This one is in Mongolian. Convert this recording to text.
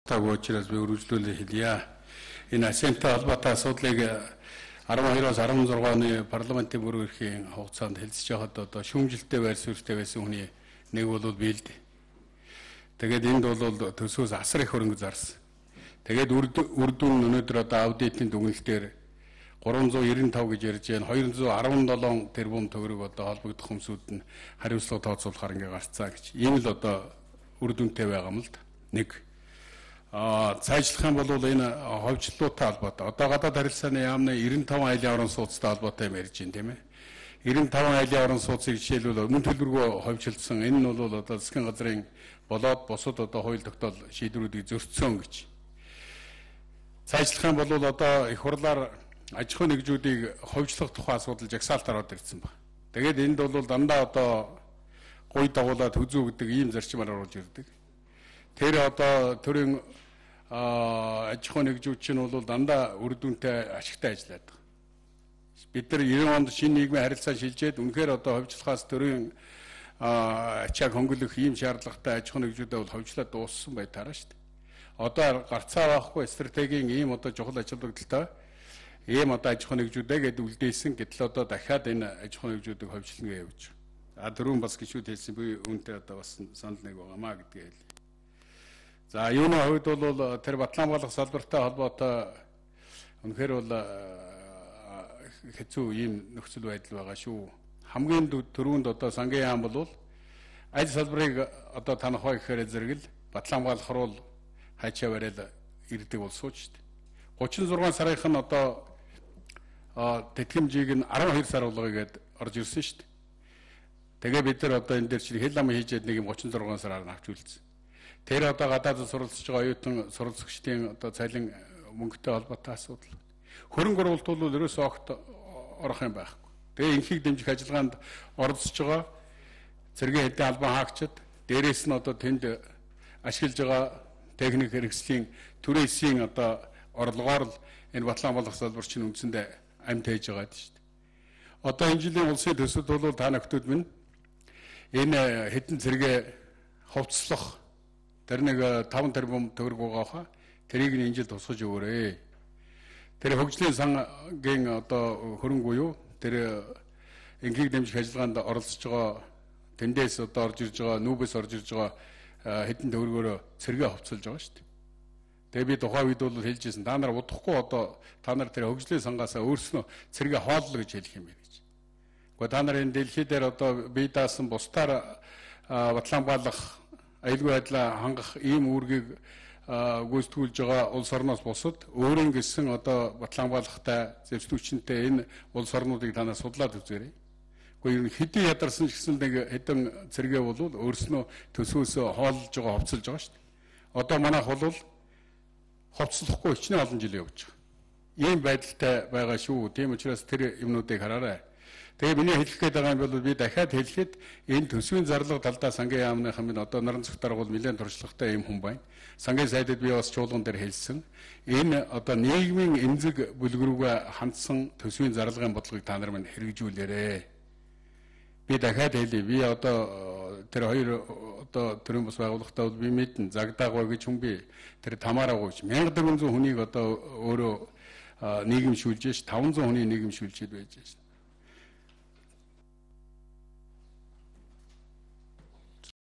Учраас би үргэлжлүүлээ хэлье. Энэ асентэй холбоотой асуудлыг 12-оос 16 оны парламентын бүрэн эрхийн хугацаанд хэлцэж байхад одоо шүүмжилттэй байр суурьтай байсан хүний нэг бол би л дээ. Тэгээд энд бол төсөөс асар их хөрөнгө зарсан. Тэгээд үр дүн өнөөдөр одоо аудитын дүгнэлтээр 395 гэж ярьж байна. 217 тэрбум төгрөг одоо холбогдох хүмүүсүүд нь хариуцлага тооцоолохоор ингээ гарцаа гэж. Ийм л одоо үр дүнтэй байгаа юм л да. Нэг цаашлах юм бол энэ ховчлолттой холбоотой. Одоо гадаад харилцааны яамны 95 айлын орон сууцтай холбоотой юм ярьж байна тийм ээ. 95 айлын орон сууцыг жишээлбэл өмнө төлбөргөө ховчлсон. Энэ нь бол одоо засгийн газрын болоод бусад одоо хууль тогтоол шийдвэрүүдийг зөрчсөн гэж. Цаашлах юм бол одоо их хурлаар аж ахуйн нэгжүүдийг ховчлох тухай асуудал жагсаалтаар ороод ирсэн байна. Тэгээд энд бол дандаа одоо гуй дагуулад хүзүү гэдэг ийм зарчмаар оруулж ирдэг. Тэр одоо төрийн аж ахуйн нэгжүүд чинь бол дандаа үр дүнтэй ашигтай ажилладаг. Бид нар 90 онд шинэ нийгмийн харилцаа шилжээд үнэхээр одоо ховчлохоос төрийн ачааг хөнгөлөх ийм шаардлагатай аж ахуйн нэгжүүдэд бол ховчлоод дууссан бай тараа шүү дээ. Одоо гарцаа байхгүй стратегийн ийм одоо чухал аж холбогдолтой ийм одоо аж ахуйн нэгжүүдээ гээд үлдээсэн гэтэл одоо дахиад энэ аж ахуйн нэгжүүдийг ховчлно гэж явж байгаа. Дөрөв бас гişүүд хэлсэн би үүнтэй одоо бас санал нэг байгаамаа гэдгийг хэлье. За юуны хувьд бол тэр Батланбаалах салбартай холбоотой үнэхээр бол хэцүү ийм нөхцөл байдал байгаа шүү. Хамгийн түрүүнд одоо сангийн яам бол аль салбарыг одоо танахаа гэхээр зэрэгэл Батланбаалах руу хайчаа бариад ирдэг болсон шүү дээ. 36 сарынх нь одоо тэтгэмжийг нь 12 сар болгоёгээд орж ирсэн шүү дээ. Тэгээ бид нар одоо энэ дээр чинь хэл ам хийжээд нэг юм 36 сараар авч үлдсэн. Тэр одоо гадаадд суралцж байгаа оюутан суралцагчдын одоо цалин мөнгөтэй холбоотой асуудал. Хөрөнгө оруулалт бол ерөөсөө огт орох юм байхгүй. Тэгээ инхийг дэмжих ажиллагаанд оролцож байгаа цэргийн хэдийн албан хаагчид дээрээс нь одоо тэнд ашиглаж байгаа техник хэрэгслийн түрээсийн одоо орлогоор л энэ Батланбаалах салбар чинь үндсэндээ амьд хийж байгаа шүү дээ. Одоо энэ жилийн улсын төсөлд бол та нөхдүүд минь энэ хэдэн цэргээ хувцлах тэр нэг 5 тэрбум төгрөг байгаа хаа тэрийг энэ жил тусгаж өгөөрэй. Тэр хөгжлийн сангийн одоо хөрөнгө буюу тэр инхийг дэмжих ажиллагаанд оролцож байгаа тэндээс одоо орж ирж байгаа нүүбээс орж ирж байгаа хэдэн төгрөгөөр цэргээ хувцалж байгаа шүү дээ. Тэгээ би тухайн үед бол хэлжсэн та нар удахгүй одоо та нар тэр хөгжлийн сангаасаа өөрснөө цэргээ хооллоо гэж хэлэх юм байна гэж. Гэхдээ та нар энэ дэлхий дээр одоо бие даасан бусдаар Батланбаалах аюулгүй байдлаа хангах ийм үүргийг гүйцэтгүүлж байгаа улс орноос бусад өөрийн гэсэн одоо Батланбаалахтай зэвсдүүчнтэй энэ улс орнуудыг танаас судлаад үзээрэй. Гэхдээ ер нь хэдий ядарсан ч гэсэн нэг хэдэн цэргээ бол өөрснөө төсөөсөө хооллож байгаа хувцалж байгаа шүү дээ. Одоо манайх бол хувцлахгүй хичнээн олон жил явж байгаа. Ийм байдалтай байгаа шүү. Тийм учраас тэр юмнуудыг хараарай. Тэгээ миний хэлэх гээд байгаа юм бол би дахиад хэлэхэд энэ төсвийн зарлага талдаа сангийн яамныхан минь одоо наран цогт даргуул нэлээд туршлагатай юм хүн байна. Сангийн сайдад би бас чуулган дээр хэлсэн. Энэ одоо нийгмийн эмзэг бүлгэрүүгээ хандсан төсвийн зарлагын бодлогыг та нар минь хэрэгжүүлээрэй. Би дахиад хэлье. Би одоо тэр хоёр одоо төрийн бас байгууллагатай бол би мэднэ. Загдаагаа гэж хүн би тэр тамаараагүй 1400 хүнийг одоо өөрөө нийгэмшүүлж ш 500 хүний нийгэмшүүлчихэд байж ш.